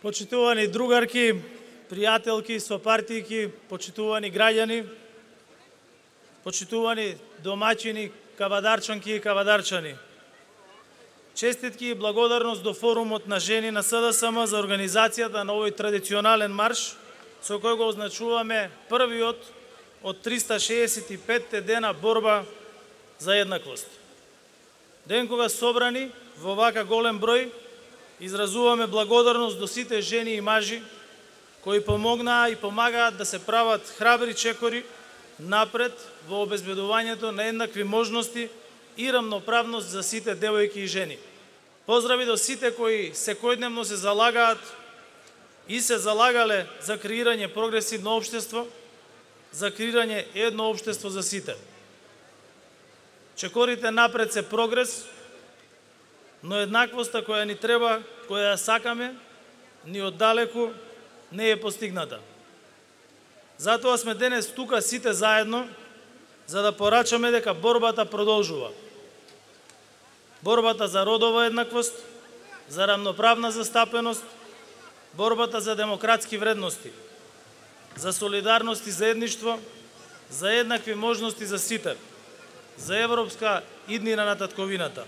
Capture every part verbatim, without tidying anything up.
Почитувани другарки, пријателки, сопартијки, почитувани граѓани, почитувани домаќини, кавадарчанки и кавадарчани. Честитки и благодарност до форумот на жени на С Д С М за организацијата на овој традиционален марш, со кој го означуваме првиот од триста шеесет и пет дена борба за еднаквост. Ден кога собрани во вака голем број, изразуваме благодарност до сите жени и мажи кои помогнаа и помагаат да се прават храбри чекори напред во обезбедувањето на еднакви можности и рамноправност за сите девојки и жени. Поздрави до сите кои секојдневно се залагаат и се залагале за креирање прогресивно општество, за креирање едно општество за сите. Чекорите напред се прогрес, но еднаквоста која ни треба, која ја сакаме, ни оддалеку не е постигната. Затоа сме денес тука сите заедно, за да порачаме дека борбата продолжува. Борбата за родова еднаквост, за рамноправна застапеност, борбата за демократски вредности, за солидарност и заедништво, за еднакви можности за сите, за европска иднина на татковината.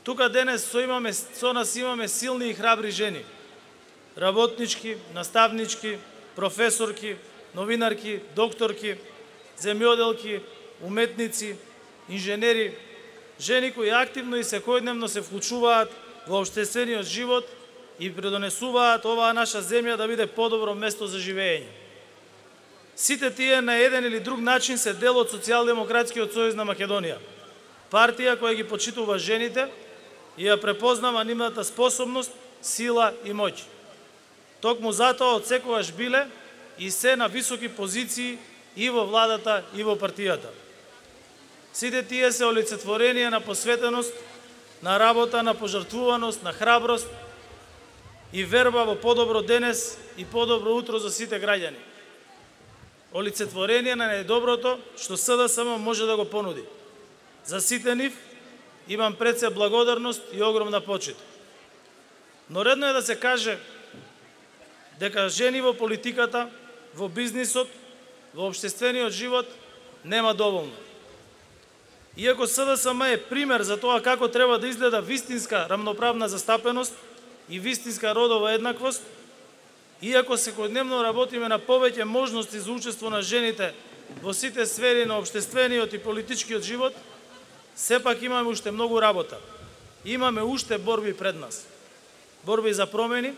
Тука денес со, имаме, со нас имаме силни и храбри жени, работнички, наставнички, професорки, новинарки, докторки, земјоделки, уметници, инженери, жени кои активно и секојдневно се вклучуваат во општествениот живот и придонесуваат оваа наша земја да биде подобро место за живење. Сите тие на еден или друг начин се дел од Социјалдемократскиот сојуз на Македонија, партија која ги почитува жените и ја препознава нивната способност, сила и моќ. Токму затоа од секогаш биле и се на високи позиции и во владата и во партијата. Сите тие се олицетворение на посветеност, на работа, на пожртвуваност, на храброст и верба во подобро денес и подобро утро за сите граѓани. Олицетворение на најдоброто што С Д С М може да го понуди. За сите нив имам пред се благодарност и огромна почит. Но редно е да се каже дека жени во политиката, во бизнисот, во општествениот живот нема доволно. Иако С Д С М е пример за тоа како треба да изгледа вистинска рамноправна застапеност и вистинска родова еднаквост, иако секојдневно работиме на повеќе можности за учество на жените во сите сфери на општествениот и политичкиот живот, сепак имаме уште многу работа. Имаме уште борби пред нас. Борби за промени,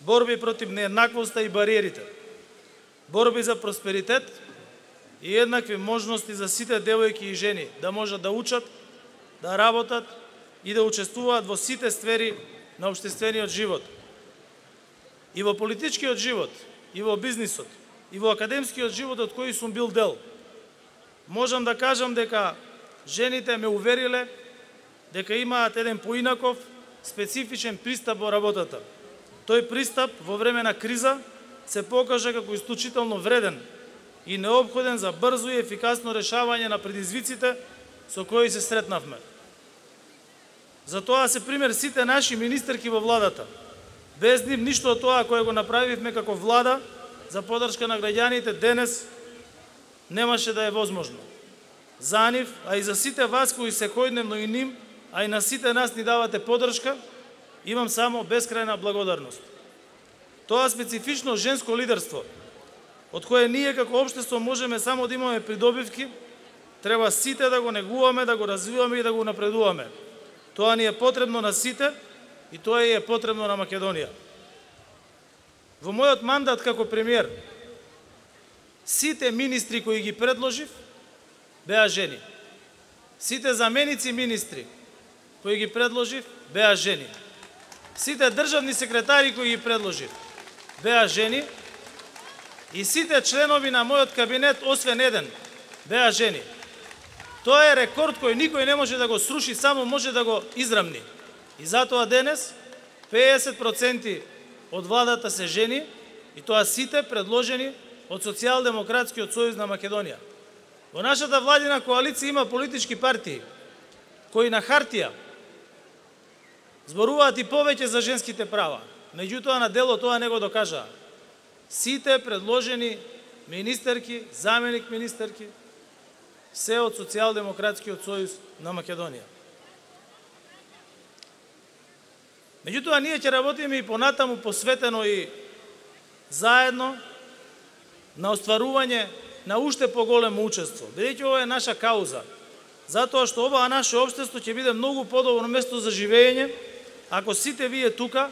борби против нееднаквоста и бариерите, борби за просперитет и еднакви можности за сите девојки и жени да можат да учат, да работат и да учествуваат во сите сфери на општествениот живот. И во политичкиот живот, и во бизнисот, и во академскиот живот од кој сум бил дел. Можам да кажам дека жените ме увериле дека имаат еден поинаков, специфичен пристап во работата. Тој пристап во време на криза се покажа како исклучително вреден и необходен за брзо и ефикасно решавање на предизвиците со кои се сретнавме. Затоа се пример сите наши министерки во владата. Без нив ништо од тоа кое го направивме како влада за поддршка на граѓаните денес немаше да е возможно. За нив, а и за сите вас кои секојдневно и ним, а и на сите нас ни давате поддршка, имам само бескрајна благодарност. Тоа специфично женско лидерство, од кое ние како општество можеме само да имаме придобивки, треба сите да го негуваме, да го развиваме и да го напредуваме. Тоа ни е потребно на сите и тоа е потребно на Македонија. Во мојот мандат како премиер, сите министри кои ги предложив беа жени. Сите заменици министри кои ги предложив беа жени. Сите државни секретари кои ги предложив беа жени и сите членови на мојот кабинет, освен еден, беа жени. Тоа е рекорд кој никој не може да го сруши, само може да го израмни. И затоа денес петдесет проценти од владата се жени и тоа сите предложени од Социјалдемократскиот сојуз на Македонија. Во нашата владина коалиција има политички партии кои на хартија зборуваат и повеќе за женските права, меѓутоа на дело тоа не го докажаа. Сите предложени министерки, заменик министерки, се од Социјалдемократскиот сојуз на Македонија. Меѓутоа, ние ќе работиме и понатаму посветено и заедно на остварување на уште поголемо учество, бидејќи ова е наша кауза, затоа што ова наше општество ќе биде многу подобро место за живење, ако сите вие тука,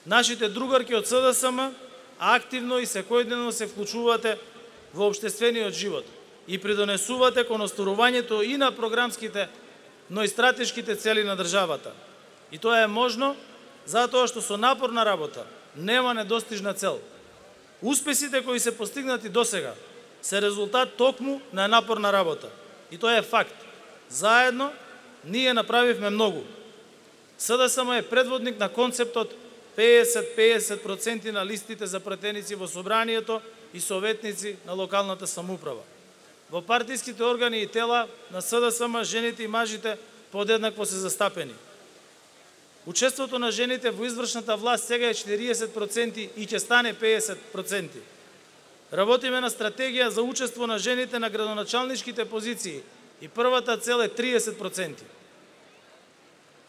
нашите другарки од С Д С М, активно и секојдневно се вклучувате во општествениот живот и придонесувате кон остварувањето и на програмските, но и стратешките цели на државата. И тоа е можно затоа што со напорна работа нема недостижна цел. Успесите кои се постигнати досега се резултат токму на напорна работа. И тоа е факт. Заедно ние направивме многу. С Д С М е предводник на концептот петдесет петдесет проценти на листите за пратеници во собранието и советници на локалната самоуправа. Во партиските органи и тела на С Д С М жените и мажите подеднакво се застапени. Учеството на жените во извршната власт сега е четириесет проценти и ќе стане петдесет проценти. Работиме на стратегија за учество на жените на градоначалничките позиции и првата цел е триесет проценти.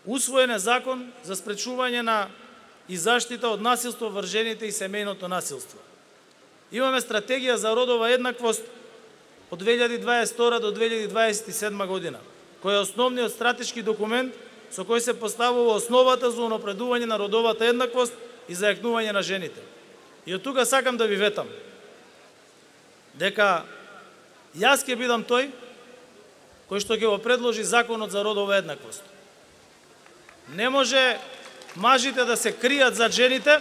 Усвоен е закон за спречување на и заштита од насилство врз жените и семејното насилство. Имаме стратегија за родова еднаквост од две илјади дваесет и втора до две илјади дваесет и седма година, кој е основниот стратешки документ со кој се поставува основата за унапредување на родовата еднаквост и зајакнување на жените. И од тука сакам да ви ветам дека јас ќе бидам тој кој што ќе го предложи законот за родова еднаквост. Не може мажите да се кријат за жените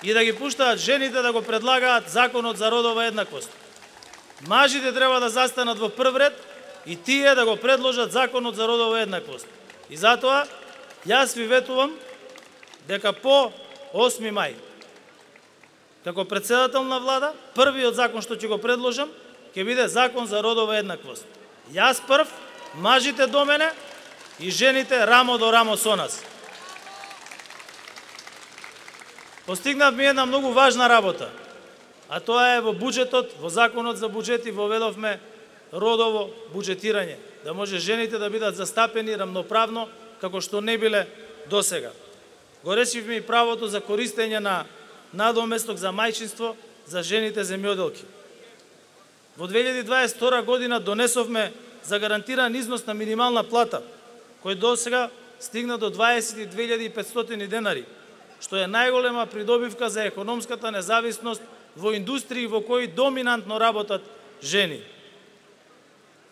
и да ги пуштаат жените да го предлагаат законот за родова еднаквост. Мажите треба да застанат во прв ред и тие да го предложат законот за родова еднаквост. И затоа јас ви ветувам дека по осми мај, како председател на влада, првиот закон што ќе го предложам ќе биде закон за родова еднаквост. Јас прв, мажите до мене и жените рамо до рамо со нас. Постигнавме една многу важна работа, а тоа е во буџетот, во законот за буџети воведовме родово буџетирање, да може жените да бидат застапени рамноправно како што не биле досега. Го решивме и правото за користење на надоместок за мајчинство за жените земјоделки. Во две илјади дваесет и втора година донесовме за гарантиран износ на минимална плата, кој досега стигна до дваесет и две илјади и петстотини денари, што е најголема придобивка за економската независност во индустрии во кои доминантно работат жени.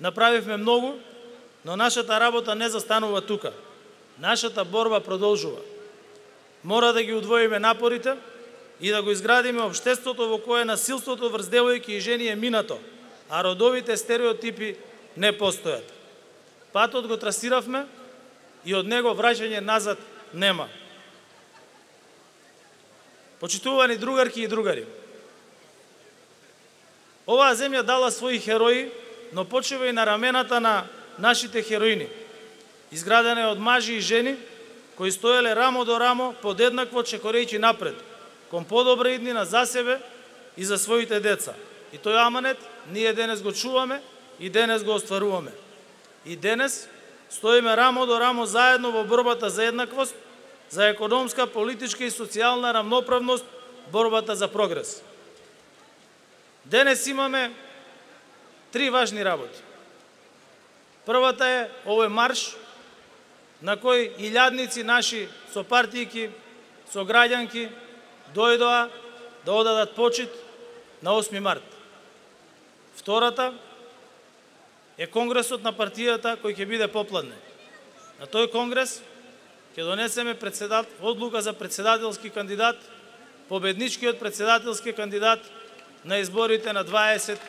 Направивме многу, но нашата работа не застанува тука. Нашата борба продолжува. Мора да ги удвоиме напорите и да го изградиме општеството во кое насилството врз девојки и жени е минато, а родовите стереотипи не постојат. Патот го трасиравме и од него враќање назад нема. Почитувани другарки и другари, оваа земја дала своји херои, но почива и на рамената на нашите хероини, изградена од мажи и жени, кои стоеле рамо до рамо, подеднакво чекорејќи напред, кон подобра иднина за себе и за своите деца. И тој аманет ние денес го чуваме и денес го остваруваме. И денес стоиме рамо до рамо заедно во борбата за еднаквост, за економска, политичка и социјална рамноправност, борбата за прогрес. Денес имаме три важни работи. Првата е овој марш на кој илјадници наши сопартијки, сограѓанки дојдоа да одадат почит на осми март. Втората е конгресот на партијата кој ќе биде попладне. На тој конгрес ќе донесеме председат, одлука за председателски кандидат, победничкиот председателски кандидат на изборите на дваесет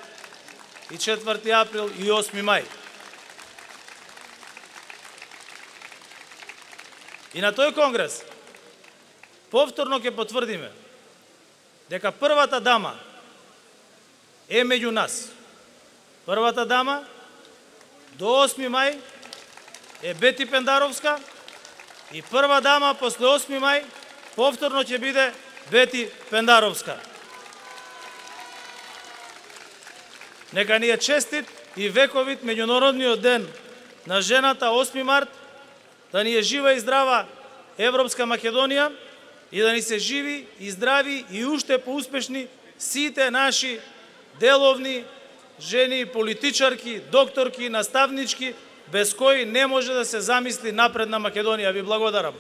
и четврти април и осми мај. И на тој конгрес повторно ќе потврдиме дека првата дама е меѓу нас. Првата дама до осми мај е Бети Пендаровска и прва дама после осми мај повторно ќе биде Вети Пендаровска. Нека ни е честит и вековит меѓународниот ден на жената осми март, да ни е жива и здрава Европска Македонија и да ни се живи и здрави и уште поуспешни сите наши деловни жени, политичарки, докторки, наставнички, без кои не може да се замисли напредна Македонија. Ви благодарам.